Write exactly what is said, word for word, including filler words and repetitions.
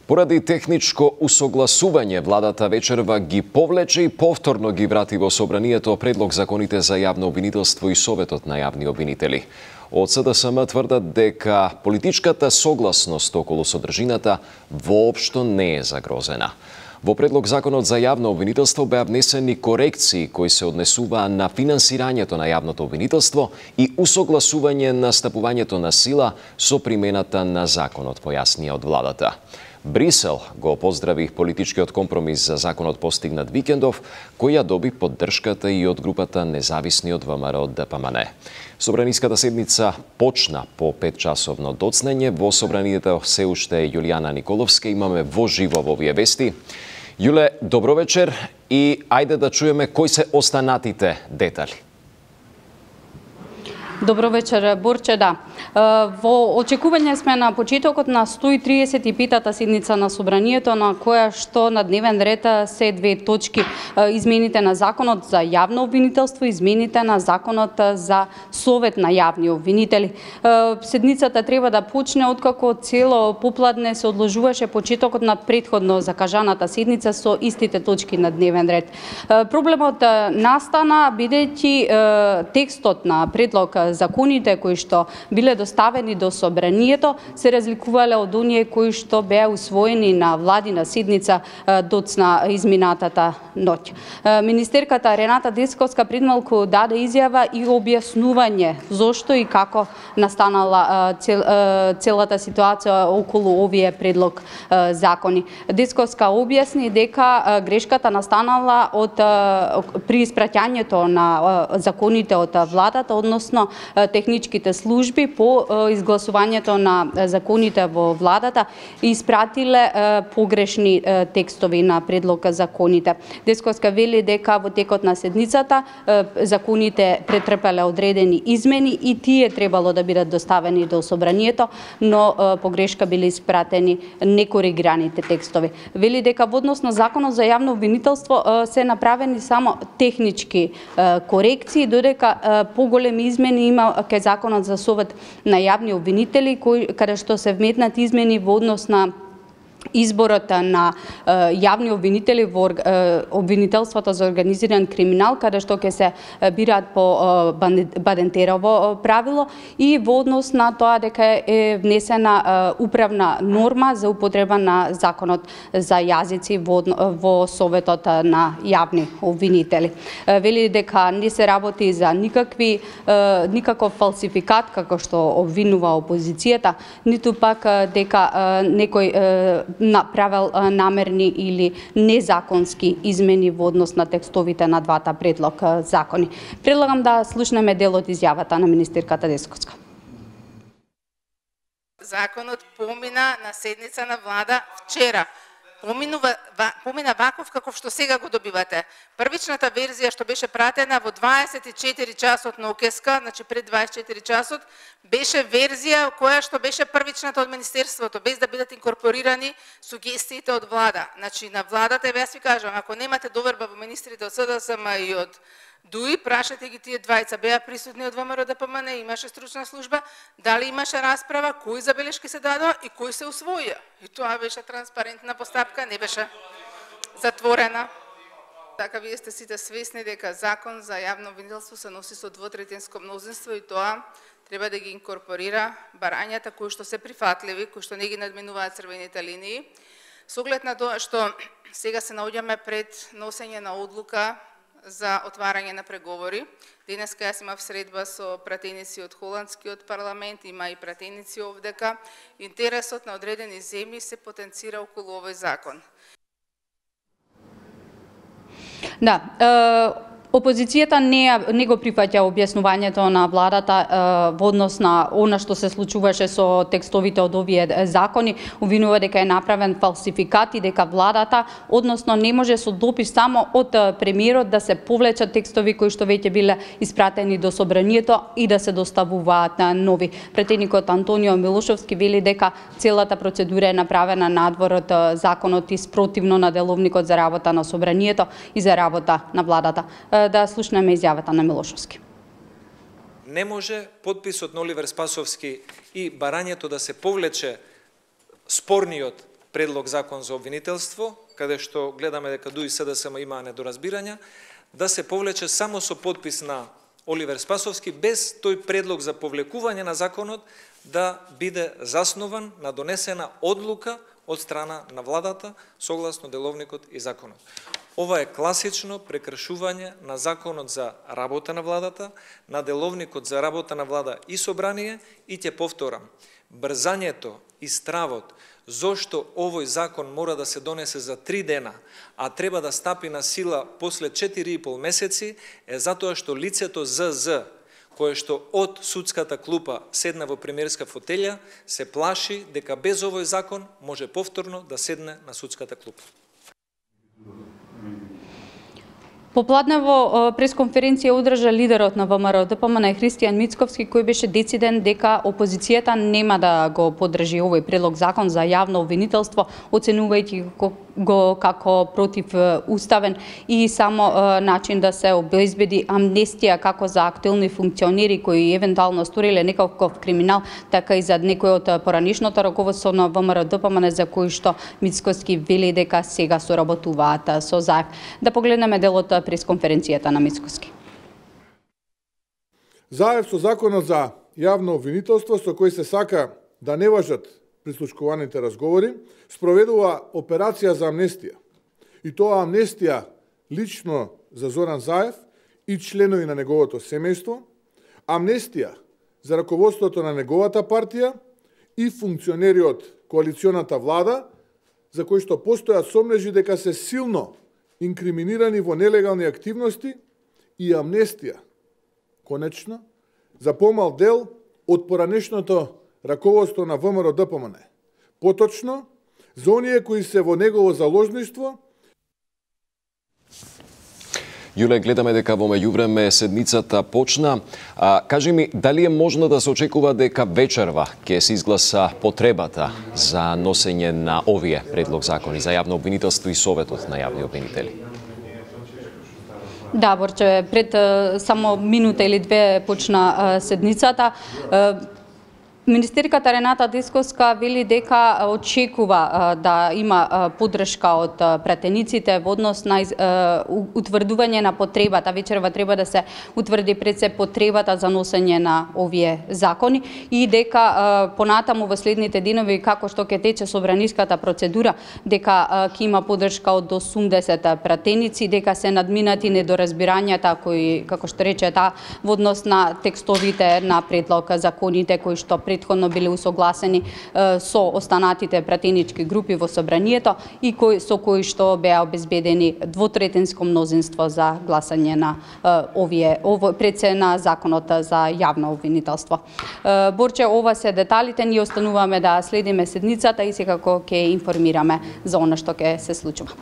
Поради техничко усогласување, владата вечерва ги повлече и повторно ги врати во собранието предлог законите за јавно обвинителство и Советот на јавни обвинители. Од С Д С М тврдат дека политичката согласност околу содржината воопшто не е загрозена. Во предлог законот за јавно обвинителство беа внесени корекции кои се однесуваа на финансирањето на јавното обвинителство и усогласување на стапувањето на сила со примената на законот, појаснија од владата. Брисел го поздрави политичкиот компромис за законот постигнат викендов, кој ја доби поддршката и од групата независни од В М Р Д П М Н. Собраниската седница почна по петчасовно доцнење. Во собранието се уште Јулијана Николовска. Имаме во живо во овие вести. Јуле, добро вечер и ајде да чуеме кои се останатите детали. Добро вечер, Борче, да. Во очекување сме на почетокот на сто и триесет и петата седница на Собранието, на која што на дневен ред се две точки: измените на законот за јавно обвинителство и измените на законот за Совет на јавни обвинители. Седницата треба да почне откако цело попладне се одложуваше почетокот на претходно закажаната седница со истите точки на дневен ред. Проблемот настана бидејќи текстот на предлог законите кои што биле доставени до собранието се разликувале од оние кои што беа усвоени на владина седница доцна изминатата ноќ. Министерката Рената Десковска предмалку даде изјава и објаснување зошто и како настанала цел, целата ситуација околу овие предлог закони. Десковска објасни дека грешката настанала од при испраќањето на законите од владата, односно техничките служби по изгласувањето на законите во владата испратиле погрешни текстови на предлог законите. Десковска вели дека во текот на седницата законите претрпеле одредени измени и тие требало да бидат доставени до собранието, но погрешка биле испратени некоригираните текстови. Вели дека во однос на законот за јавно обвинителство се направени само технички корекции, додека поголеми измени има кај законот за Совет на јавни обвинители, кои каде што се вметнати измени во однос на изборот на јавни обвинители во обвинителството за организиран криминал, каде што ќе се бираат по Бадентерово правило, и во однос на тоа дека е внесена управна норма за употреба на законот за јазици во, во Советот на јавни обвинители. Вели дека не се работи за никакви никаков фалсификат како што обвинува опозицијата, ниту пак дека некој направил намерни или незаконски измени во однос на текстовите на двата предлог закони. Предлагам да слушнеме дел од изјавата на министерката Десковска. Законот помина на седница на влада вчера. Поминува, помина ваков каков што сега го добивате. Првичната верзија што беше пратена во дваесет и четири часот на ОКСК, значи пред дваесет и четири часот, беше верзија која што беше првичната од Министерството, без да бидат инкорпорирани сугестиите од влада. Значи на владата, јас ви кажам, ако немате доверба во министрите од С Д С М и од Дуи, прашате ги тие двајца, беа присутни од В М Р Д П М Н, имаше стручна служба, дали имаше расправа, кои забелешки се дадоа и кои се усвоија. И тоа беше транспарентна постапка, не беше затворена. Така, вие сте сите свесни дека закон за јавно обвинителство се носи со двотретинско мнозинство и тоа треба да ги инкорпорира барањата кои што се прифатливи, кои што не ги надминуваат црвените линии. Со оглед на тоа што сега се наоѓаме пред носење на одлука за отварање на преговори. Денеска јас имав средба со пратеници од холандскиот парламент, има и пратеници овдека. Интересот на одредени земји се потенцира околу овој закон. Да, е... Опозицијата не, не го прифаќа објаснувањето на владата е, во однос на она што се случуваше со текстовите од овие закони, обвинува дека е направен фалсификат и дека владата, односно не може со допис само од премиерот да се повлечат текстови кои што веќе биле испратени до собранието и да се доставуваат на нови. Претеникот Антонио Милошовски вели дека целата процедура е направена надвор од законот и спротивно на деловникот за работа на собранието и за работа на владата. Да слушнеме изјавата на Милошовски. Не може подписот на Оливер Спасовски и барањето да се повлече спорниот предлог закон за обвинителство, каде што гледаме дека ДУ и СДСМ имаа недоразбирања, да се повлече само со подпис на Оливер Спасовски, без тој предлог за повлекување на законот да биде заснован на донесена одлука од страна на владата, согласно деловникот и законот. Ова е класично прекршување на законот за работа на владата, на деловникот за работа на влада и собрание, и ќе повторам, брзањето и стравот зошто овој закон мора да се донесе за три дена, а треба да стапи на сила после четири и пол месеци, е затоа што лицето З З, кое што од судската клупа седна во премиерска фотелја, се плаши дека без овој закон може повторно да седне на судската клупа. Попладнево пресконференција одржа лидерот на ВМРО Д П М Н Христијан Мицковски, кој беше дециден дека опозицијата нема да го поддржи овој предлог закон за јавно обвинителство, оценувајќи го како противуставен и само начин да се обезбеди амнестија како за актуелни функционери кои евентуално сториле некаков криминал, така и за некои од поранишното раководство на ВМРО Д П М Н за кои што Мицковски вели дека сега соработуваат со Заев. Да погледнеме делот пресконференцијата на Мицковски. Заев со законот за јавно обвинителство со кој се сака да не важат прислушкуваните разговори, спроведува операција за амнестија. И тоа амнестија лично за Зоран Заев и членови на неговото семејство, амнестија за раководството на неговата партија и функционери од коалиционата влада, за кои што постојат сомнежи дека се силно инкриминирани во нелегални активности, и амнестија, конечно, за помал дел од поранешното раководство на ВМРО Д П М Н. Поточно, за оние кои се во негово заложништво. Јуле, гледаме дека во меѓувреме седницата почна. А, кажи ми, дали е можно да се очекува дека вечерва ќе се изгласа потребата за носење на овие предлог закони за јавно обвинителство и Советот на јавни обвинители? Да, Борче, пред само минута или две почна седницата. Министерката Рената Десковска вели дека очекува да има поддршка од пратениците во однос на утврдување на потребата. Вечерва треба да се утврди пред се потребата за носење на овие закони и дека понатаму во следните денови, како што ќе тече собраниската процедура, дека ќе има поддршка од осумдесет пратеници, дека се надминати недоразбирањата кои, како што рече таа, во однос на текстовите на предлог законите кои што претходно биле усогласени со останатите пратенички групи во собранието и кои, со кои што беа обезбедени двотретинско мнозинство за гласање на овие ово пред се на законот за јавно обвинителство. Борче, ова се деталите, ние остануваме да следиме седницата и секако ќе информираме за она што ќе се случува.